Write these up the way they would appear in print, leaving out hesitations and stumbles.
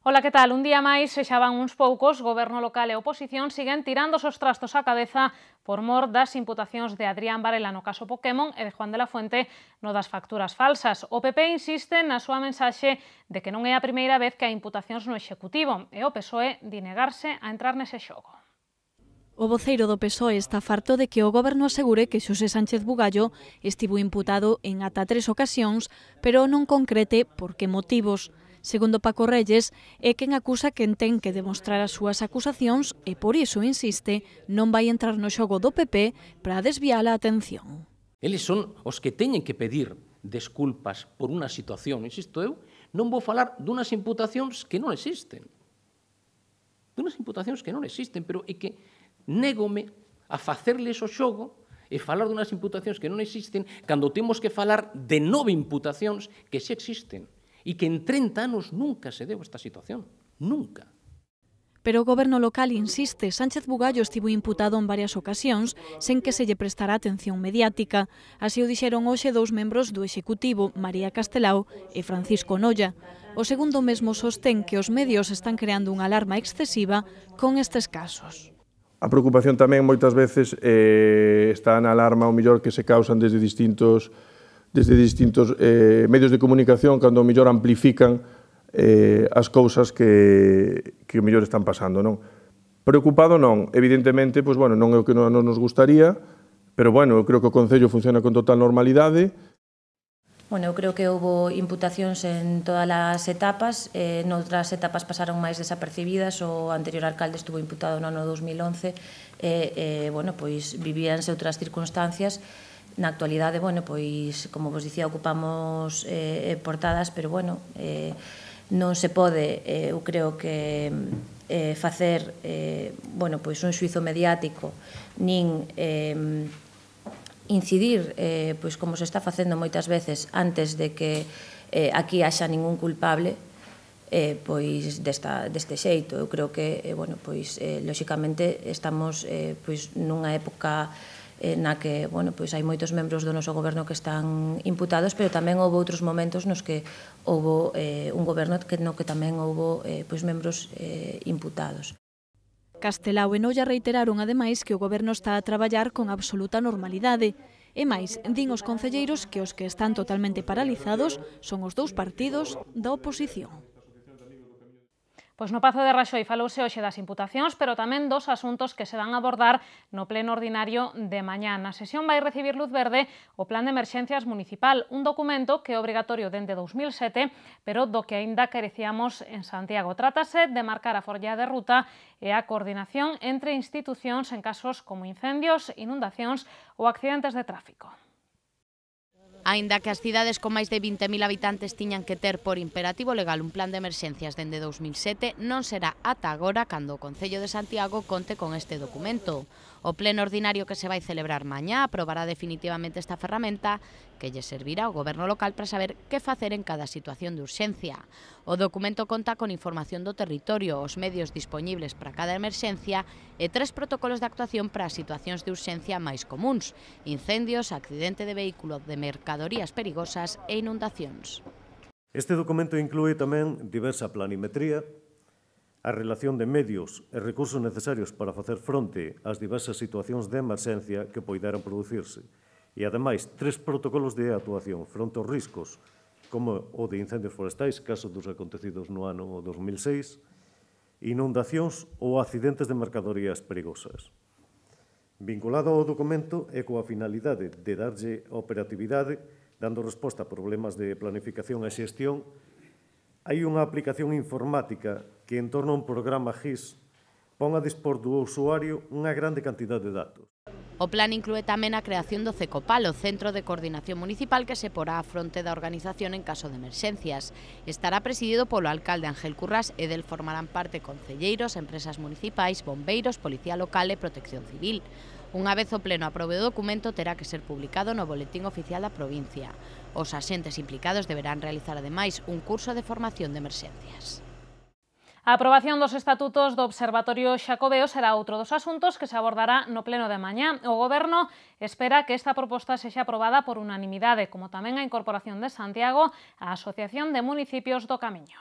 Ola, que tal? Un día máis, se xa van uns poucos, goberno local e oposición siguen tirando os trastos á cabeza por mor das imputacións de Adrián Varela no caso Pokémon e de Juan de la Fuente no das facturas falsas. O PP insiste na súa mensaxe de que non é a primeira vez que hai imputacións no Executivo e o PSOE di negarse a entrar nese xogo. O voceiro do PSOE está farto de que o goberno asegure que Xosé Sánchez Bugallo estivo imputado en ata 3 ocasións, pero non concrete por que motivos. Segundo Paco Reyes, é quen acusa quen ten que demostrar as súas acusacións e por iso, insiste, non vai entrar no xogo do PP para desviar a atención. Eles son os que teñen que pedir desculpas por unha situación. Insisto, eu non vou falar dunas imputacións que non existen. Dunas imputacións que non existen, pero é que négome a facerles o xogo e falar dunas imputacións que non existen cando temos que falar de 9 imputacións que xa existen e que en 30 anos nunca se deu esta situación. Nunca. Pero o goberno local insiste, Sánchez Bugallo estivo imputado en varias ocasións sen que se lle prestara atención mediática. Así o dixeron hoxe dous membros do Executivo, María Castelao e Francisco Nolla. O segundo mesmo sostén que os medios están creando unha alarma excesiva con estes casos. A preocupación tamén moitas veces está na alarma o mellor que se causan desde distintos medios de comunicación cando o mellor amplifican as cousas que o mellor están pasando, non? Preocupado non, evidentemente, pois, bueno, non é o que non nos gustaría, pero, bueno, eu creo que o Concello funciona con total normalidade. Bueno, eu creo que houve imputacións en todas as etapas, noutras etapas pasaron máis desapercibidas, o anterior alcalde estuvo imputado no ano 2011, bueno, pois vivíanse outras circunstancias. Na actualidade, bueno, pois, como vos dicía, ocupamos portadas, pero, bueno, non se pode, eu creo que facer, bueno, pois un xuizo mediático, nin incidir, pois como se está facendo moitas veces antes de que aquí haxa ningún culpable, pois deste xeito. Eu creo que, bueno, pois, lóxicamente, estamos pois nunha época na que, bueno, pois hai moitos membros do noso goberno que están imputados, pero tamén houve outros momentos nos que houve un goberno no que tamén houve pois membros imputados. Castelao e Nolla reiteraron ademais que o goberno está a traballar con absoluta normalidade. E máis, din os concelleiros que os que están totalmente paralizados son os dous partidos da oposición. Pois no Pazo de Raxoi falouse hoxe das imputacións, pero tamén dos asuntos que se van a abordar no pleno ordinario de mañá. Na sesión vai recibir luz verde o Plan de Emerxencias Municipal, un documento que é obrigatorio dende 2007, pero do que aínda carecíamos en Santiago. Trátase de marcar a folla de ruta e a coordinación entre institucións en casos como incendios, inundacións ou accidentes de tráfico. Aínda que as cidades con máis de 20.000 habitantes tiñan que ter por imperativo legal un plan de emerxencias dende 2007, non será ata agora cando o Concello de Santiago conte con este documento. O pleno ordinario que se vai celebrar mañá aprobará definitivamente esta ferramenta que lle servirá ao goberno local para saber que facer en cada situación de urxencia. O documento conta con información do territorio, os medios dispoñibles para cada emerxencia e 3 protocolos de actuación para as situacións de urxencia máis comuns: incendios, accidente de vehículo, de mercadorías perigosas e inundacións. Este documento inclúe tamén diversa planimetría, a relación de medios e recursos necesarios para facer fronte ás diversas situacións de emerxencia que poideran producirse e, ademais, 3 protocolos de actuación fronte aos riscos, como o de incendios forestais, caso dos acontecidos no ano 2006, inundacións ou accidentes de mercadorías perigosas. Vinculado ao documento e coa finalidade de darlle operatividade, dando resposta a problemas de planificación e xestión, hai unha aplicación informática que, en torno a un programa GIS, pon a dispor do usuario unha grande cantidad de datos. O plan inclúe tamén a creación do CECOPAL, o Centro de Coordinación Municipal, que se porá á fronte da organización en caso de emerxencias. Estará presidido polo alcalde Ángel Currás e del formarán parte concelleiros, empresas municipais, bombeiros, Policía Local e Protección Civil. Unha vez o pleno aprobe o documento, terá que ser publicado no Boletín Oficial da provincia. Os axentes implicados deberán realizar ademais un curso de formación de emerxencias. A aprobación dos estatutos do Observatorio Xacobeo será outro dos asuntos que se abordará no pleno de mañá. O Goberno espera que esta proposta sexa aprobada por unanimidade, como tamén a incorporación de Santiago á Asociación de Municipios do Camiño.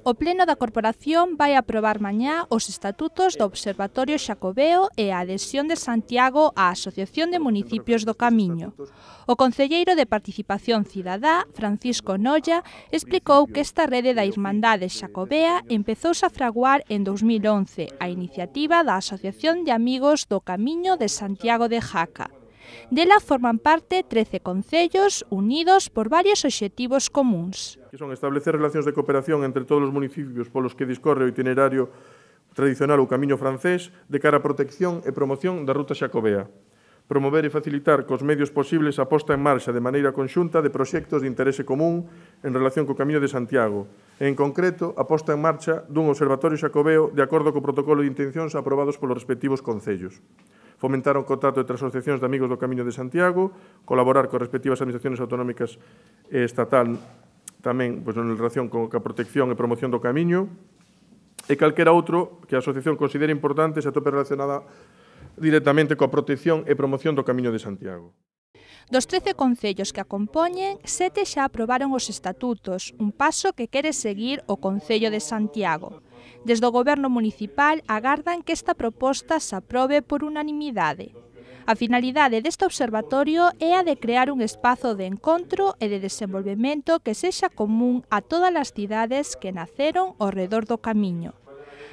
O Pleno da Corporación vai aprobar mañá os estatutos do Observatorio Xacobeo e a adhesión de Santiago á Asociación de Municipios do Camiño. O concelleiro de Participación Cidadá, Francisco Nolla, explicou que esta rede da Irmandade Xacobea empezouse a fraguar en 2011 a iniciativa da Asociación de Amigos do Camiño de Santiago de Jaca. Dela forman parte 13 concellos unidos por varios obxectivos comúns. Que son establecer relacións de cooperación entre todos os municipios polos que discorre o itinerario tradicional ou camiño francés de cara á protección e promoción da ruta xacobea. Promover e facilitar cos medios posibles a posta en marcha de maneira conxunta de proxectos de interese común en relación co Camiño de Santiago e, en concreto, a posta en marcha dun observatorio xacobeo de acordo co protocolo de intencións aprobados polos respectivos concellos. Fomentar o contacto entre asociacións de amigos do Camiño de Santiago, colaborar coas respectivas administracións autonómicas e estatal tamén en relación con a protección e promoción do camiño e calquera outro que a asociación considere importante se atope relacionada directamente coa protección e promoción do Camiño de Santiago. Dos 13 concellos que a compoñen, 7 xa aprobaron os estatutos, un paso que quere seguir o Concello de Santiago. Desde o Goberno municipal agardan que esta proposta se aprobe por unanimidade. A finalidade deste observatorio é a de crear un espazo de encontro e de desenvolvemento que sexa común a todas as cidades que naceron ao redor do camiño.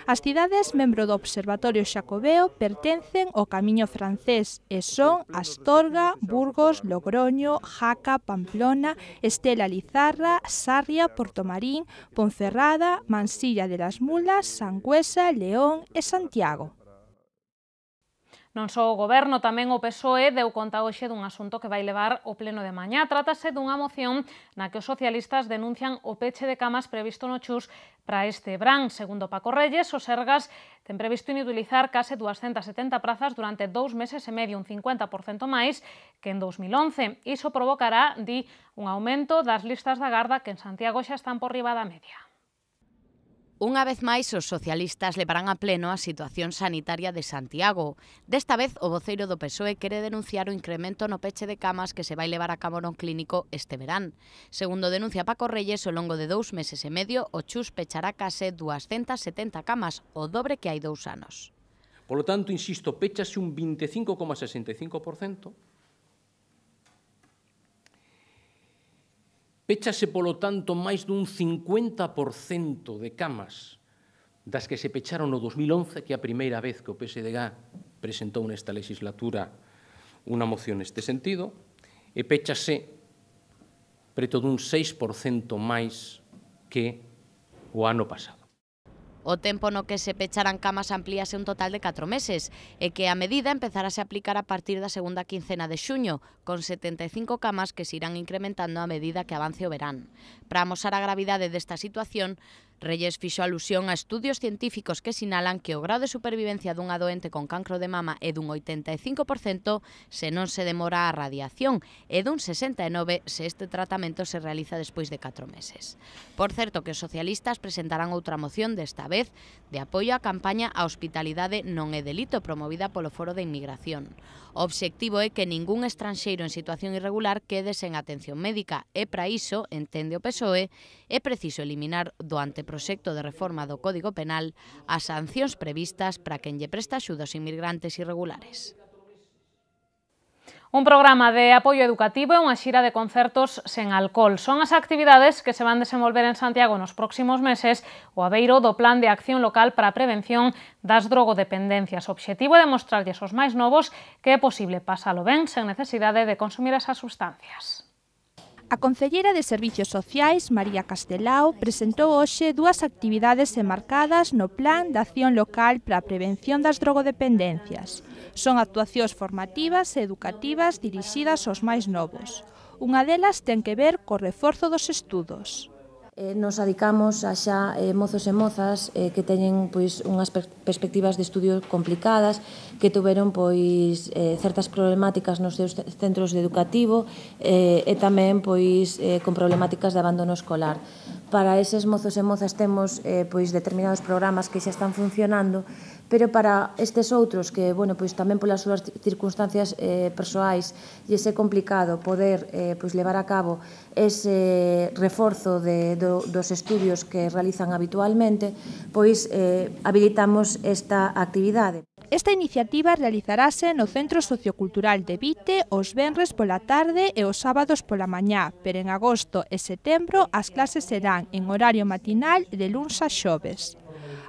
As cidades membro do Observatorio Xacobeo pertencen ao Camiño francés e son Astorga, Burgos, Logroño, Jaca, Pamplona, Estela Lizarra, Sarria, Portomarín, Ponferrada, Mansilla de las Mulas, Sangüesa, León e Santiago. Non só o Goberno, tamén o PSOE deu conta hoxe dun asunto que vai levar o pleno de mañá. Trátase dunha moción na que os socialistas denuncian o peche de camas previsto no Chus para este verán. Segundo Paco Reyes, os Sergas ten previsto inutilizar case 270 prazas durante 2 meses e medio, un 50% máis que en 2011. Iso provocará, di, un aumento das listas da Garda que en Santiago xa están por riba da media. Unha vez máis, os socialistas levarán a pleno a situación sanitaria de Santiago. Desta vez, o voceiro do PSOE quere denunciar o incremento no peche de camas que se vai levar a cabo no clínico este verán. Segundo denuncia Paco Reyes, ao longo de 2 meses e medio, o Chus pechará case 270 camas, o dobre que hai 2 anos. Polo tanto, insisto, péchase un 25,65%. Péchase, polo tanto, máis dun 50% de camas das que se pecharon no 2011, que é a primeira vez que o PSDG presentou nesta legislatura unha moción neste sentido, e péchase preto dun 6% máis que o ano pasado. O tempo no que se pecharán camas amplíase un total de 4 meses e que a medida empezarase a aplicar a partir da segunda quincena de xuño, con 75 camas que se irán incrementando a medida que avance o verán. Para amosar a gravidade desta situación, Reyes fixo alusión a estudios científicos que sinalan que o grau de supervivencia dunha doente con cancro de mama é dun 85% se non se demora a radiación e dun 69% se este tratamento se realiza despois de 4 meses. Por certo que os socialistas presentarán outra moción, desta vez de apoio á campaña A hospitalidade non é delito, promovida polo Foro de Inmigración. O obxectivo é que ningún estranxeiro en situación irregular quede sen atención médica e para iso, entende o PSOE, é preciso eliminar do anteproxecto de reforma do Código Penal as sancións previstas para quen lle presta axuda aos inmigrantes irregulares. Un programa de apoio educativo e unha xira de concertos sen alcohol. Son as actividades que se van desenvolver en Santiago nos próximos meses o abeiro do Plan de Acción Local para a Prevención das Drogodependencias. O obxectivo é demostrarlles aos máis novos que é posible pasalo ben sen necesidade de consumir esas sustancias. A concelleira de Servicios Sociais, María Castelao, presentou hoxe 2 actividades enmarcadas no Plan de Acción Local para a Prevención das Drogodependencias. Son actuacións formativas e educativas dirixidas aos máis novos. Unha delas ten que ver co reforzo dos estudos. Nos adicamos a xa mozos e mozas que teñen unhas perspectivas de estudio complicadas, que tuveron certas problemáticas nos seus centros educativos e tamén con problemáticas de abandono escolar. Para eses mozos e mozas temos determinados programas que xa están funcionando, pero para estes outros que, bueno, pois tamén polas súas circunstancias persoais lle é complicado poder pois levar a cabo ese reforzo dos estudios que realizan habitualmente, pois habilitamos esta actividade. Esta iniciativa realizarase no Centro Sociocultural de Vite os venres pola tarde e os sábados pola mañá, pero en agosto e setembro as clases serán en horario matinal de luns a xoves.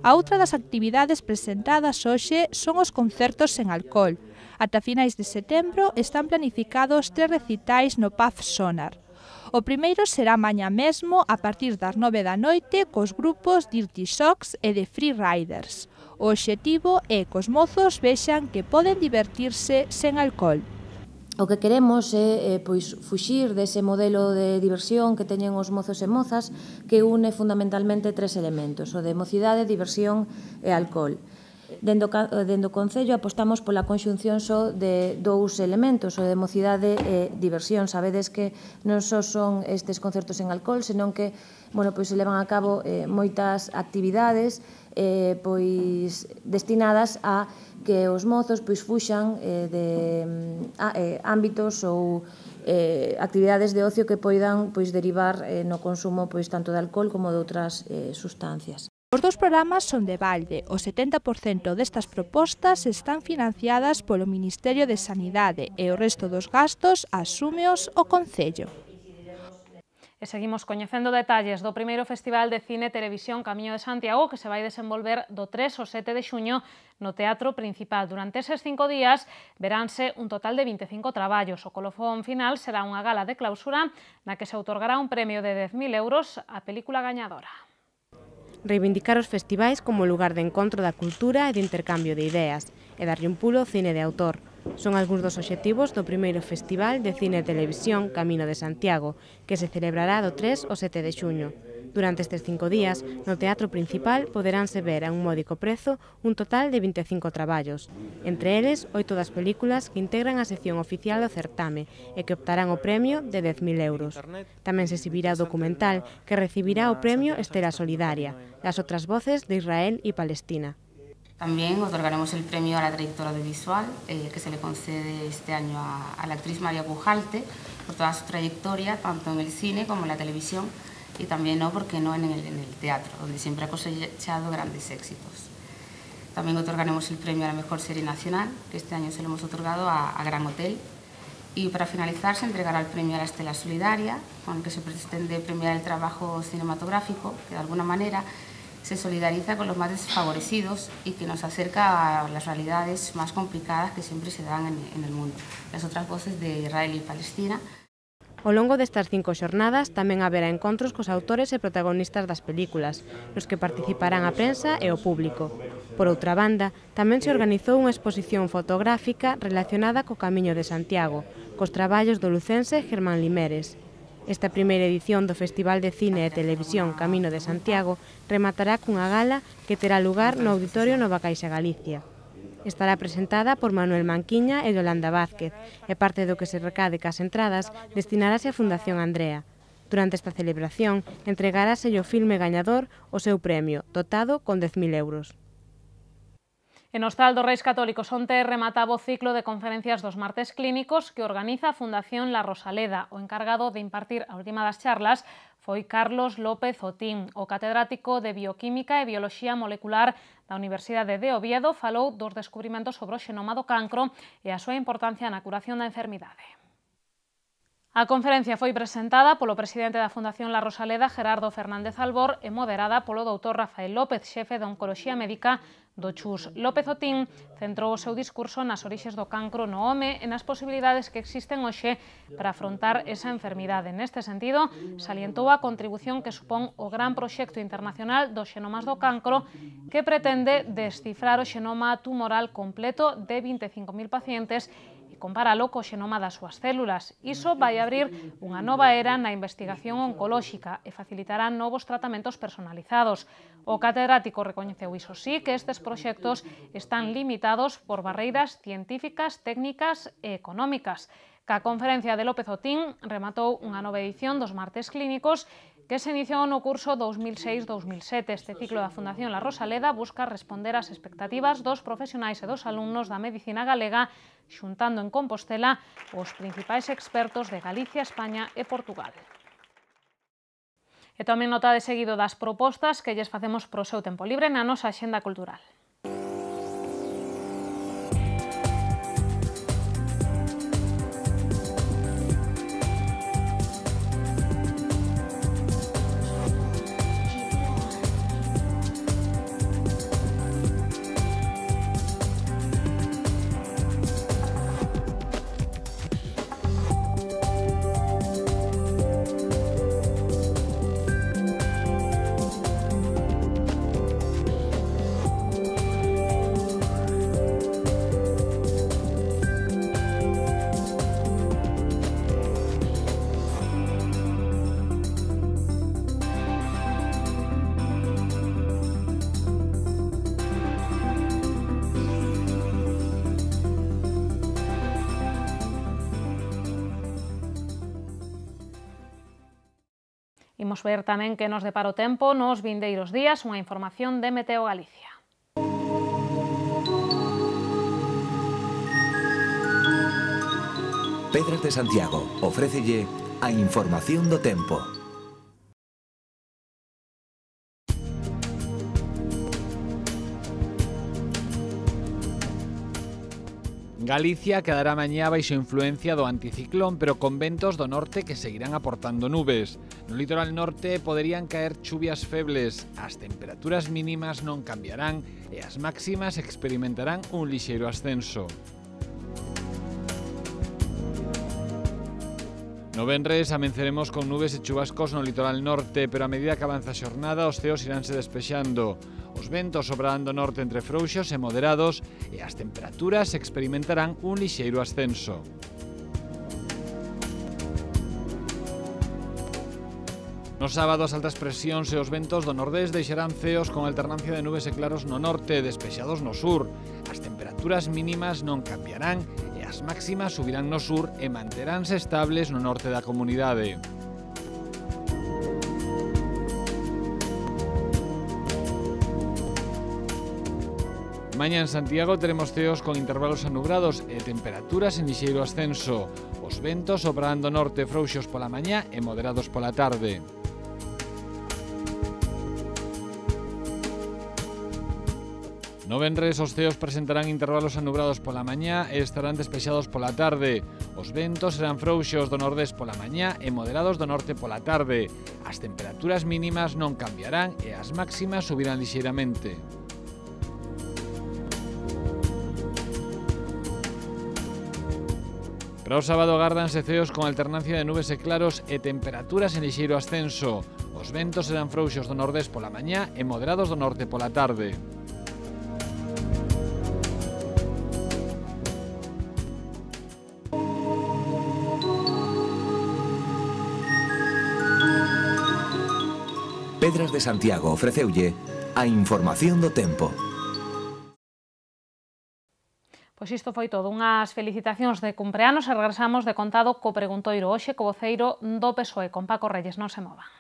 A outra das actividades presentadas hoxe son os concertos sen alcohol. Ata finais de setembro están planificados 3 recitais no Pub Sonar. O primeiro será mañá mesmo a partir das 9 da noite cos grupos Dirty Socks e de Free Riders. O obxectivo é que os mozos vexan que poden divertirse sen alcohol. O que queremos é pois fuxir dese modelo de diversión que teñen os mozos e mozas que une fundamentalmente 3 elementos, o de mocidade, diversión e alcohol. Dendo o Concello apostamos pola conxunción só de 2 elementos, o de mocidade e diversión. Sabedes que non só son estes concertos en alcohol, senón que, bueno, pois se levan a cabo moitas actividades pois destinadas a que os mozos pois fuxan de ámbitos ou actividades de ocio que poidan pois derivar no consumo pois tanto de alcohol como de outras sustancias. Os 2 programas son de balde. O 70% destas propostas están financiadas polo Ministerio de Sanidade e o resto dos gastos asúmeos o Concello. E seguimos coñecendo detalles do primeiro Festival de Cine e Televisión Camiño de Santiago que se vai desenvolver do 3 ao 7 de xuño no Teatro Principal. Durante eses 5 días veránse un total de 25 traballos. O colofón final será unha gala de clausura na que se outorgará un premio de 10.000 euros á película gañadora. Reivindicar os festivais como lugar de encontro da cultura e de intercambio de ideas e darlle un pulo ao cine de autor. Son algúns dos obxectivos do primeiro Festival de Cine e Televisión Camino de Santiago, que se celebrará do 3 ao 7 de xuño. Durante estes 5 días, no Teatro Principal poderánse ver a un módico prezo un total de 25 traballos. Entre eles, 8 das películas que integran a sección oficial do certame e que optarán o premio de 10.000 euros. Tamén se exhibirá o documental que recibirá o premio Estela Solidaria, Las otras voces de Israel y Palestina. También otorgaremos el premio a la trayectoria audiovisual que se le concede este año a la actriz María Pujalte por toda su trayectoria, tanto en el cine como en la televisión y también, ¿por qué no?, en el teatro, donde siempre ha cosechado grandes éxitos. También otorgaremos el premio a la mejor serie nacional, que este año se lo hemos otorgado a Gran Hotel. Y para finalizar se entregará el premio a la Estela Solidaria, con el que se pretende premiar el trabajo cinematográfico, que de alguna manera se solidariza con los más desfavorecidos y que nos acerca a las realidades más complicadas que siempre se dan en el mundo. Las otras voces de Israel y Palestina. Ao longo destas 5 xornadas tamén haberá encontros cos autores e protagonistas das películas, nos que participarán a prensa e o público. Por outra banda, tamén se organizou unha exposición fotográfica relacionada co Camiño de Santiago, cos traballos do lucense Germán Limeres. Esta primeira edición do Festival de Cine e Televisión Camino de Santiago rematará cunha gala que terá lugar no Auditorio Nova Caixa Galicia. Estará presentada por Manuel Manquiña e Yolanda Vázquez e parte do que se recade cas entradas destinarase á Fundación Andrea. Durante esta celebración entregarase o filme gañador o seu premio, dotado con 10.000 euros. En Hostal dos Reis Católicos onte remataba o ciclo de conferencias dos martes clínicos que organiza a Fundación La Rosaleda. O encargado de impartir a última das charlas foi Carlos López Otín. O catedrático de Bioquímica e Bioloxía Molecular da Universidade de Oviedo falou dos descubrimentos sobre o xenoma do cancro e a súa importancia na curación da enfermidade. A conferencia foi presentada polo presidente da Fundación La Rosaleda, Gerardo Fernández Albor, e moderada polo doutor Rafael López, xefe de Oncoloxía Médica do CHUS. López Otín centrou o seu discurso nas orixes do cancro no home e nas posibilidades que existen hoxe para afrontar esa enfermidade. Neste sentido, salientou a contribución que supón o gran proxecto internacional dos xenomas do cancro que pretende descifrar o xenoma tumoral completo de 25.000 pacientes e comparalo co xenoma das súas células. Iso vai abrir unha nova era na investigación oncolóxica e facilitará novos tratamentos personalizados. O catedrático recoñeceu, iso sí, que estes proxectos están limitados por barreiras científicas, técnicas e económicas. Ca conferencia de López Otín rematou unha nova edición dos martes clínicos que se iniciou no curso 2006-2007. Este ciclo da Fundación La Rosaleda busca responder ás expectativas dos profesionais e dos alumnos da medicina galega, xuntando en Compostela os principais expertos de Galicia, España e Portugal. E tamén notade seguido das propostas que lles facemos pro seu tempo libre na nosa axenda cultural. Imos ver tamén que nos depara o tempo nos vindeiros días, unha información de Meteo Galicia. Pedras de Santiago ofrécelle a información do tempo. Galicia quedará mañá baixo influencia do anticiclón, pero con ventos do norte que seguirán aportando nubes. No litoral norte poderían caer chuvias febles, as temperaturas mínimas non cambiarán e as máximas experimentarán un lixeiro ascenso. No venres amenceremos con nubes e chubascos no litoral norte, pero a medida que avanza a xornada os ceos iránse despexando. Os ventos sobrarán do norte entre frouxos e moderados e as temperaturas experimentarán un lixeiro ascenso. No sábado as altas presións e os ventos do nordés deixarán ceos con alternancia de nubes e claros no norte, despexados no sur. As temperaturas mínimas non cambiarán e as máximas subirán no sur e manteránse estables no norte da comunidade. Mañá en Santiago teremos ceos con intervalos anubrados e temperaturas en lixeiro ascenso. Os ventos soprarán do norte frouxos pola mañá e moderados pola tarde. No venres os ceos presentarán intervalos anubrados pola mañá e estarán despexados pola tarde. Os ventos serán frouxos do nordés pola mañá e moderados do norte pola tarde. As temperaturas mínimas non cambiarán e as máximas subirán lixeiramente. Para o sábado agárdanse ceos con alternancia de nubes e claros e temperaturas en lixeiro ascenso. Os ventos serán frouxos do nordés pola mañá e moderados do norte pola tarde. Pedras de Santiago ofreceulle a información do tempo. Pois isto foi todo, unhas felicitacións de cumpleanos e regresamos de contado co preguntoiro hoxe co voceiro do PSOE, con Paco Reyes, non se movan.